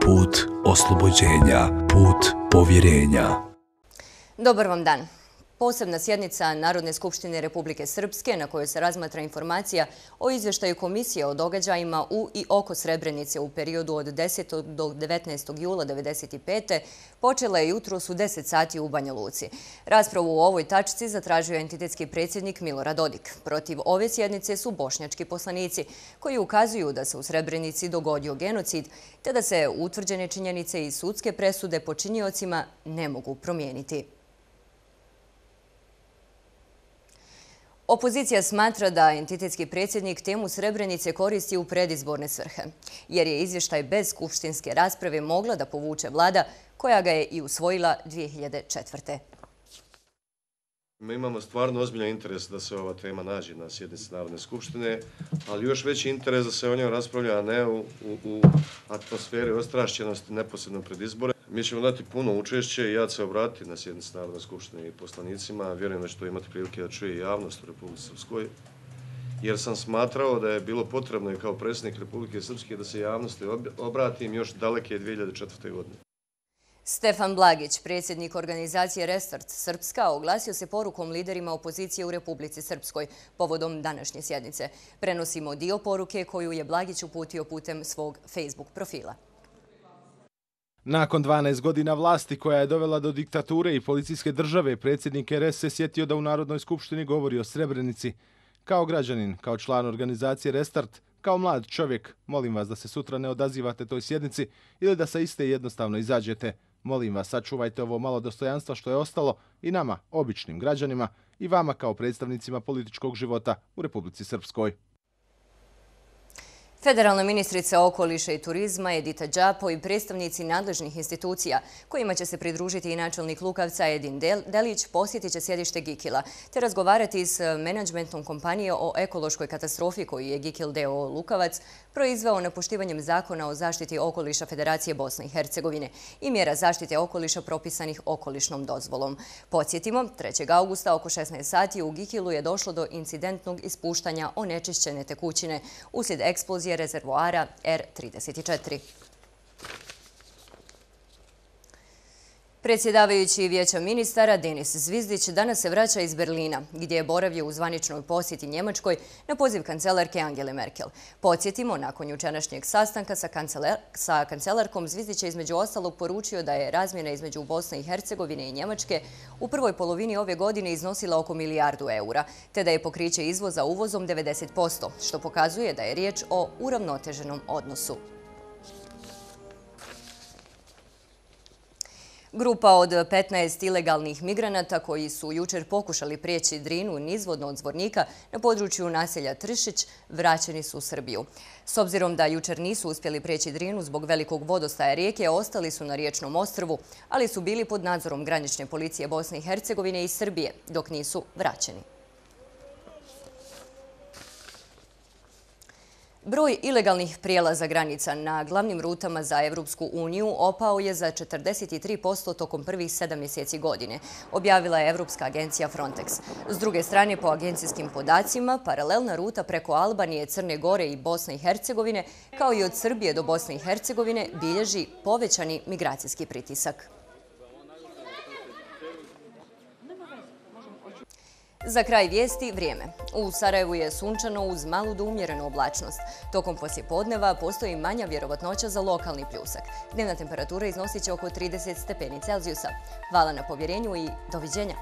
put oslobođenja, put povjerenja. Dobar vam dan. Posebna sjednica Narodne skupštine Republike Srpske na kojoj se razmatra informacija o izvještaju komisije o događajima u i oko Srebrenice u periodu od 10. do 19. jula 1995. počela je jutros u 10 sati u Banja Luci. Raspravu u ovoj tačci zatražio je entitetski predsjednik Milorad Dodik. Protiv ove sjednice su bošnjački poslanici koji ukazuju da se u Srebrenici dogodio genocid te da se utvrđene činjenice i sudske presude počiniocima ne mogu promijeniti. Opozicija smatra da entitetski predsjednik temu Srebrenice koristi u predizborne svrhe, jer je izvještaj bez skupštinske rasprave mogla da povuče vlada koja ga je i usvojila 2004. Mi imamo stvarno ozbiljan interes da se ova tema nađe na sjednici Narodne skupštine, ali još veći interes da se o njoj raspravlja, a ne u atmosferi ostrašćenosti neposredno pred izbore. Mi ćemo dati puno učešće i ja ću se obratiti na sjednici Narodne skupštine i poslanicima. Vjerujem da će to imati prilike da čuje i javnost u Republici Srpskoj, jer sam smatrao da je bilo potrebno i kao predsjednik Republike Srpske da se javnosti obratim još daleke 2004. godine. Stefan Blagić, predsjednik organizacije Restart Srpska, oglasio se porukom liderima opozicije u Republici Srpskoj povodom današnje sjednice. Prenosimo dio poruke koju je Blagić uputio putem svog Facebook profila. Nakon 12 godina vlasti koja je dovela do diktature i policijske države, predsjednik RS se sjetio da u Narodnoj skupštini govori o Srebrenici. Kao građanin, kao član organizacije Restart, kao mlad čovjek, molim vas da se sutra ne odazivate toj sjednici ili da sa iste jednostavno izađete. Molim vas, sačuvajte ovo malo dostojanstva što je ostalo i nama, običnim građanima, i vama kao predstavnicima političkog života u Republici Srpskoj. Federalna ministrica okoliša i turizma Edita Đapo i predstavnici nadležnih institucija, kojima će se pridružiti i načelnik Lukavca Edin Delić, posjetit će sjedište Gikila, te razgovarati s menadžmentom kompanije o ekološkoj katastrofi koju je Gikil d.o.o. Lukavac proizveo nepoštivanjem zakona o zaštiti okoliša Federacije Bosne i Hercegovine i mjera zaštite okoliša propisanih okolišnom dozvolom. Podsjetimo, 3. augusta oko 16 sati u Gikilu je došlo do incidentnog ispuštanja onečišćene tekućine uslijed eksplozije rezervoara R34. Predsjedavajući Vijeća ministara Denis Zvizdić danas se vraća iz Berlina, gdje je boravio u zvaničnoj posjeti Njemačkoj na poziv kancelarke Angele Merkel. Podsjetimo, nakon jučerašnjeg sastanka sa kancelarkom, Zvizdić je između ostalog poručio da je razmjena između Bosne i Hercegovine i Njemačke u prvoj polovini ove godine iznosila oko milijardu eura, te da je pokriće izvoza uvozom 90%, što pokazuje da je riječ o uravnoteženom odnosu. Grupa od 15 ilegalnih migranata koji su jučer pokušali prijeći Drinu nizvodno od Zvornika na području naselja Tršić vraćeni su u Srbiju. S obzirom da jučer nisu uspjeli prijeći Drinu zbog velikog vodostaja rijeke, ostali su na riječnom ostrvu, ali su bili pod nadzorom granične policije Bosne i Hercegovine i Srbije, dok nisu vraćeni. Broj ilegalnih prijelaza granica na glavnim rutama za Evropsku uniju opao je za 43% tokom prvih 7 mjeseci godine, objavila je Evropska agencija Frontex. S druge strane, po agencijskim podacima, paralelna ruta preko Albanije, Crne Gore i Bosne i Hercegovine, kao i od Srbije do Bosne i Hercegovine, bilježi povećani migracijski pritisak. Za kraj vijesti vrijeme. U Sarajevu je sunčano uz malu do umjerenu oblačnost. Tokom poslijepodneva postoji manja vjerovatnoća za lokalni pljusak. Dnevna temperatura iznosit će oko 30 stepeni Celzijusa. Hvala na povjerenju i doviđenja.